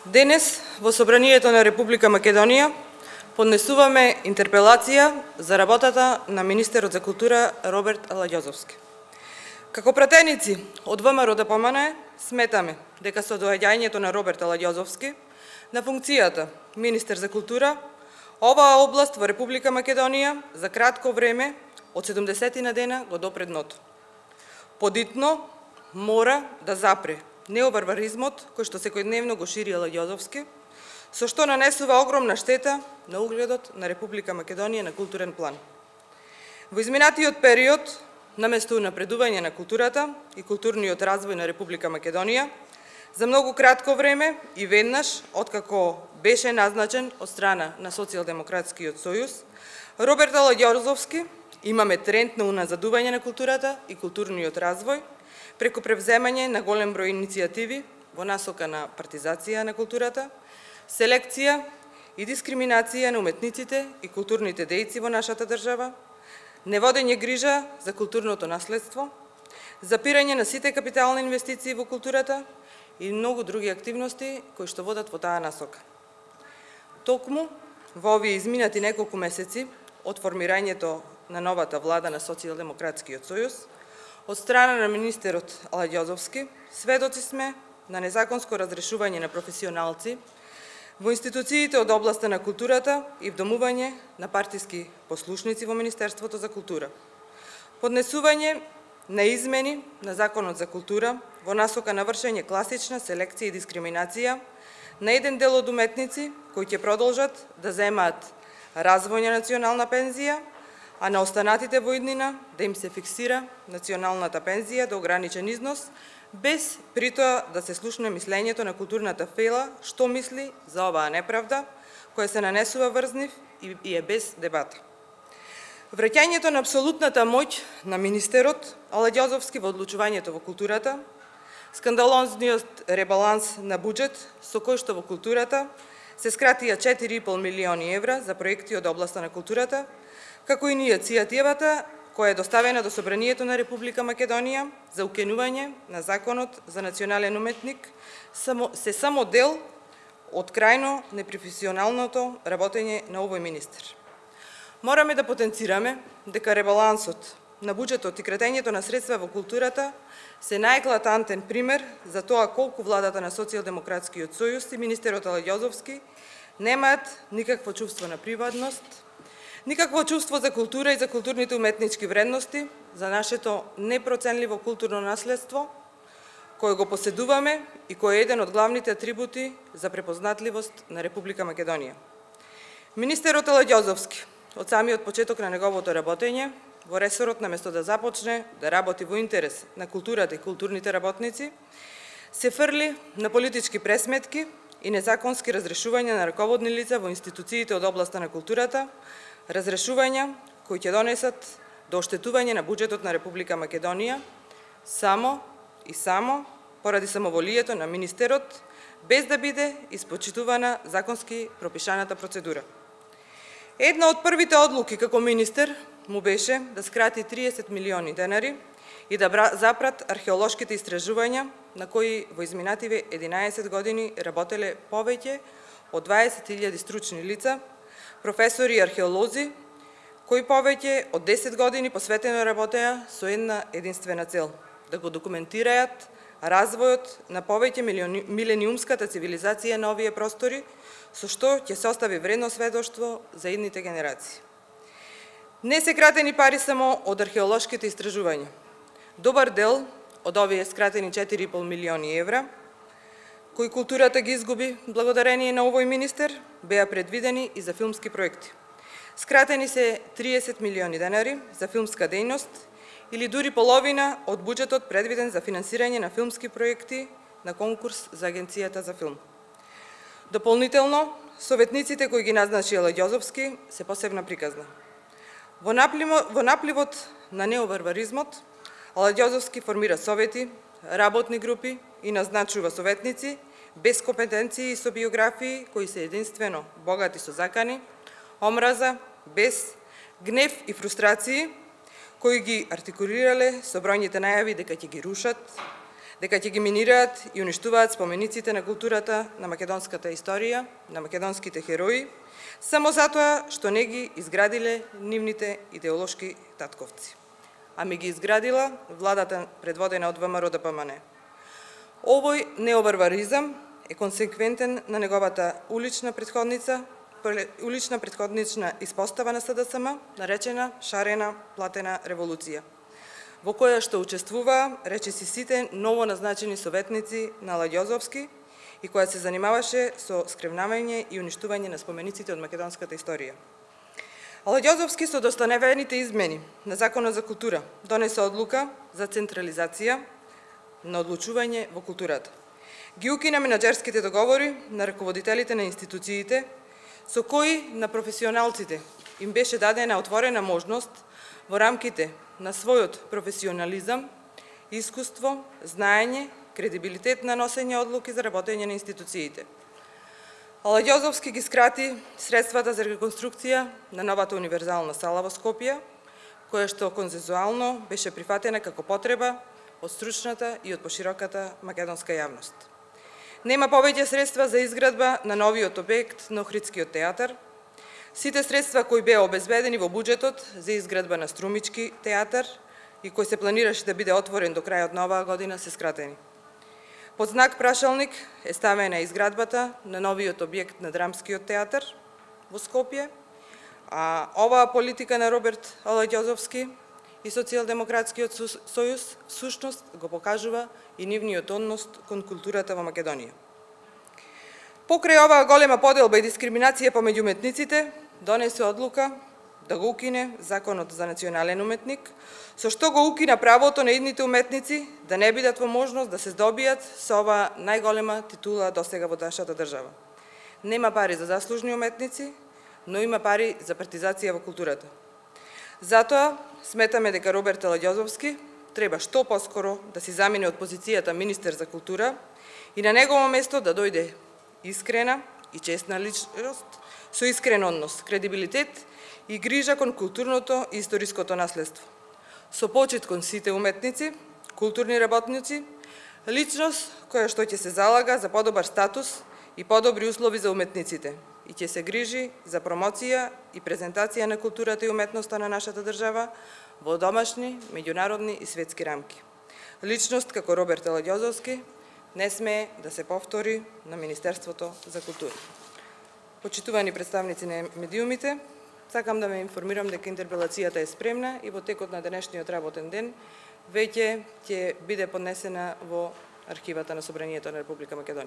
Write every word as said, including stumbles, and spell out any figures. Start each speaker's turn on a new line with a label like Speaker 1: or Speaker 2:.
Speaker 1: Денес во Собранието на Република Македонија поднесуваме интерпелација за работата на министерот за култура Роберт Аладјозовски. Како пратеници од ВМРО ДПМН сметаме дека со доаѓањето на Роберт Аладјозовски на функцијата министер за култура, оваа област во Република Македонија за кратко време од седумдесетина дена го допре дното. Подитно мора да запре неоварваризмот кој што секојдневно го шири Аладјозовски, со што нанесува огромна штета на угледот на Република Македонија на културен план. Во изминатиот период, наместо напредување на културата и културниот развој на Република Македонија, за многу кратко време и веднаш, откако беше назначен од страна на Социјалдемократскиот сојуз, Роберт Аладјозовски имаме тренд на уназадување на културата и културниот развој, преку превземање на голем број иницијативи во насока на партизација на културата, селекција и дискриминација на уметниците и културните дејци во нашата држава, неводење грижа за културното наследство, запирање на сите капитални инвестиции во културата и многу други активности кои што водат во таа насока. Токму во овие изминати неколку месеци од формирањето на новата влада на Социјалдемократскиот сојуз, од страна на министерот Аладјозовски, сведоци сме на незаконско разрешување на професионалци во институциите од областа на културата и вдомување на партиски послушници во Министерството за култура. Поднесување на измени на Законот за култура во насока на вршење класична селекција и дискриминација на еден дел од уметници кои ќе продолжат да земаат развојна национална пензија, а на останатите во иднина да им се фиксира националната пензија до ограничен износ, без при тоа да се слушне мислењето на културната фела, што мисли за оваа неправда, која се нанесува врз нив и е без дебата. Враќањето на апсолутната моќ на министерот Аладјозовски во одлучувањето во културата, скандалозниот ребаланс на буџет со кој што во културата се скратија четири и пол милиони евра за проекти од областа на културата, како и иницијативата која е доставена до Собранието на Република Македонија за укинување на Законот за национален уметник, се само дел од крајно непрофесионалното работење на овој министер. Мораме да потенцираме дека ребалансот на буџетот и кратењето на средства во културата се најеклатантен пример за тоа колку владата на Социјалдемократскиот сојуз и министерот Аладјозовски немаат никакво чувство на приватност, никакво чувство за култура и за културните уметнички вредности, за нашето непроценливо културно наследство, кое го поседуваме и кој е еден од главните атрибути за препознатливост на Република Македонија. Министерот Аладјозовски, од самиот почеток на неговото работење, во ресорот наместо да започне да работи во интерес на културата и културните работници, се фрли на политички пресметки и незаконски разрешувања на раководни лица во институциите од областа на културата, разрешувања кои ќе донесат до оштетување на буџетот на Република Македонија само и само поради самоволието на министерот, без да биде испочитувана законски пропишаната процедура. Една од првите одлуки како министер му беше да скрати триесет милиони денари и да запрат археолошките истражувања на кои во изминативе единаесет години работеле повеќе од дваесет илјади стручни лица, професори и археолози, кои повеќе од десет години посветено работеа со една единствена цел – да го документираат развојот на повеќе милениумската цивилизација на овие простори, со што ќе се остави вредно сведоштво за идните генерации. Не се кратени пари само од археолошките истражувања. Добар дел од овие скратени четири и пол милиони евра, кои културата ги изгуби благодарение на овој министер, беа предвидени и за филмски проекти. Скратени се триесет милиони денари за филмска дејност или дури половина од буџетот предвиден за финансирање на филмски проекти на конкурс за Агенцијата за филм. Дополнително, советниците кои ги назначи Аладјозовски се посебна приказна. Во напливот на неоварваризмот, Аладјозовски формира совети, работни групи и назначува советници без компетенции и со биографии кои се единствено богати со закани, омраза, бес, гнев и фрустрации, кои ги артикулирале со бројните најави дека ќе ги рушат, дека ќе ги минираат и уништуваат спомениците на културата, на македонската историја, на македонските херои, само затоа што не ги изградиле нивните идеолошки татковци. Ами ги изградила владата предводена од ВМРО Д П М Н. Овој неоварваризам е консеквентен на неговата улична претходница, улична претходнична испостава на С Д С М, наречена шарена платена револуција, во која што учествуваа речиси сите новоназначени советници на Аладјозовски и која се занимаваше со скревнавање и уништување на спомениците од македонската историја. Аладјозовски со достаневените измени на Законот за култура донесе одлука за централизација на одлучување во културата. Ги укина менаџерските договори на раководителите на институциите, со кои на професионалците им беше дадена отворена можност во рамките на својот професионализам, искуство, знаење, кредибилитет на носење одлуки за работење на институциите. Аладјозовски ги скрати средствата за реконструкција на новата универзална сала во Скопје, која што консензуално беше прифатена како потреба од стручната и од пошироката македонска јавност. Нема повеќе средства за изградба на новиот објект на Охридскиот театар. Сите средства кои беа обезбедени во буџетот за изградба на Струмички театар и кој се планираше да биде отворен до крајот на оваа година се скратени. Под знак прашалник е ставена изградбата на новиот објект на Драмскиот театар во Скопје, а оваа политика на Роберт Аладјозовски и Социјалдемократскиот сојуз всушност го покажува и нивниот однос кон културата во Македонија. Покрај оваа голема поделба и дискриминација помеѓу уметниците, донесе одлука да го укине Законот за национален уметник, со што го укина правото на идните уметници да не бидат во можност да се здобијат со оваа најголема титула досега во нашата држава. Нема пари за заслужни уметници, но има пари за партизација во културата. Затоа сметаме дека Роберт Аладјозовски треба што поскоро да си замине од позицијата министер за култура и на негово место да дојде искрена и честна личност, со искрен однос, кредибилитет и грижа кон културното и историското наследство. Со почит кон сите уметници, културни работници, личност која што ќе се залага за подобар статус и подобри услови за уметниците и ќе се грижи за промоција и презентација на културата и уметноста на нашата држава во домашни, меѓународни и светски рамки. Личност како Роберт Аладјозовски не смее да се повтори на Министерството за култура. Почитувани представници на медиумите, сакам да ме информирам дека интерпелацијата е спремна и во текот на денешниот работен ден веќе ќе биде поднесена во архивата на Собранието на Република Македонија.